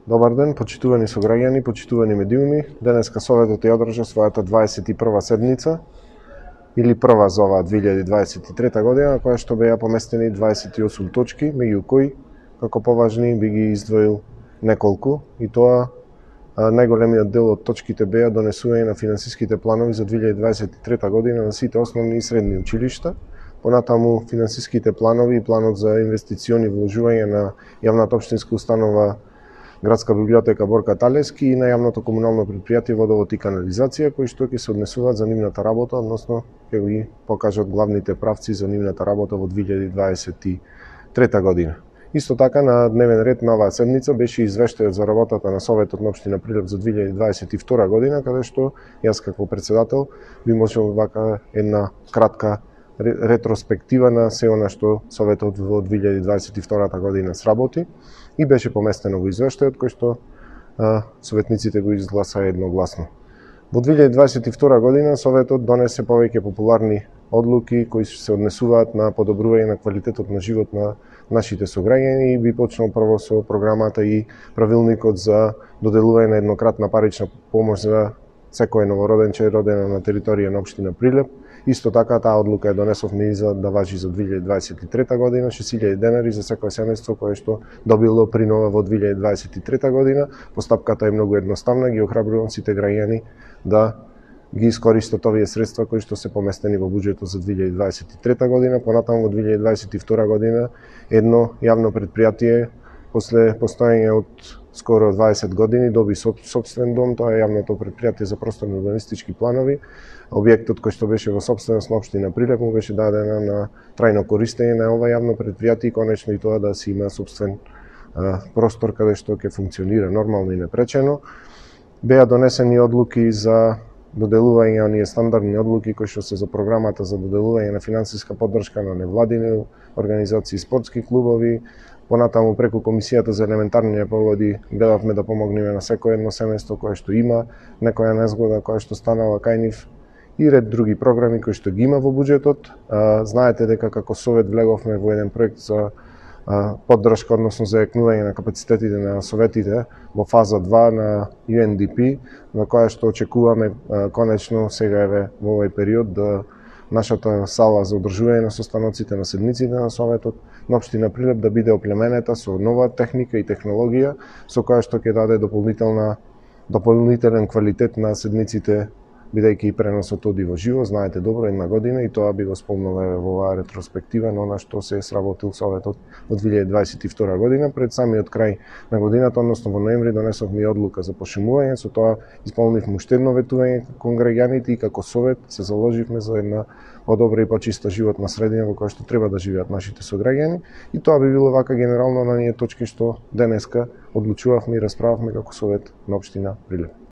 Добар ден, почитувани сограѓани, почитувани медиуми. Денеска Советот ја одржа својата 21 седница, или прва за оваа 2023 година, која што беа поместени 28 точки, меѓу кои, како поважни, би ги издвоил неколку, и тоа најголемиот дел од точките беа донесување на финансиските планови за 2023 година на сите основни и средни училишта. Понатаму финансиските планови и планот за инвестициони вложување на јавната општинска установа Градска библиотека Борка Талевски и на јавното комунално предпријатие Водовод и канализација, кои што ќе се однесуваат за нивната работа, односно ќе ги покажат главните правци за нивната работа во 2023 година. Исто така на дневен ред на оваа седница беше извештајот за работата на Советот на општина Прилеп за 2022 година, каде што јас како председател би можел вака една кратка ретроспектива на се она што Советот во 2022 година сработи и беше поместено во извештајот кој што советниците го изгласа едногласно. Во 2022 година Советот донесе повеќе популарни одлуки кои се однесуваат на подобрување на квалитетот на живот на нашите сограѓани и би почнал прво со програмата и правилникот за доделување на еднократна парична помош за секој новороденче родено на територија на општина Прилеп. Исто така таа одлука ја донесовме и за да важи за 2023 година, 6.000 денари за секој семејство кое што добило принова во 2023 година. Постапката е многу едноставна, ги охрабрувам сите граѓани да ги искористат овие средства кои што се поместени во буџетот за 2023 година. Понатаму во 2022 година едно јавно предпријатие после постоење од скоро 20 години доби сопствен дом, тоа е јавното предпријатие за просторни урбанистички планови. Објектот кој што беше во сопственост на општина Прилеп му беше дадена на трајно користење на ова јавно предпријатие и конечно и тоа да се има сопствен простор каде што ќе функционира нормално и непречено. Беа донесени одлуки за доделување оние стандардни одлуки кои што се за програмата за доделување на финансиска поддршка на невладини организации и спортски клубови. Понатаму преку Комисијата за елементарни непогоди гледавме да помогнеме на секој едно семејство кое што има некоја незгода која што станала кај нив и ред други програми кои што ги има во буџетот. Знаете дека како Совет влеговме во еден проект за поддршка, односно за јакнување на капацитетите на советите во фаза 2 на UNDP, на која што очекуваме конечно сега еве во овој период да нашата сала за одржување на состаноците на седниците на Советот на општина Прилеп да биде оплеменета со нова техника и технологија со која што ќе даде дополнителен квалитет на седниците, бидејќи и преносот оди во живо, знаете добро, една година и тоа би го спомнала во оваа ретроспектива на она што се сработил Советот во 2022 година. Пред самиот крај на годината, односно во ноември, донесовме и одлука за пошумување, со тоа исполнивме уште едно ветување кон граѓаните и како Совет се заложивме за една подобра и почиста животна средина во која што треба да живеат нашите сограѓани и тоа би било вака генерално на ние точки што денеска одлучувавме и расправавме како Совет на општина Прилеп.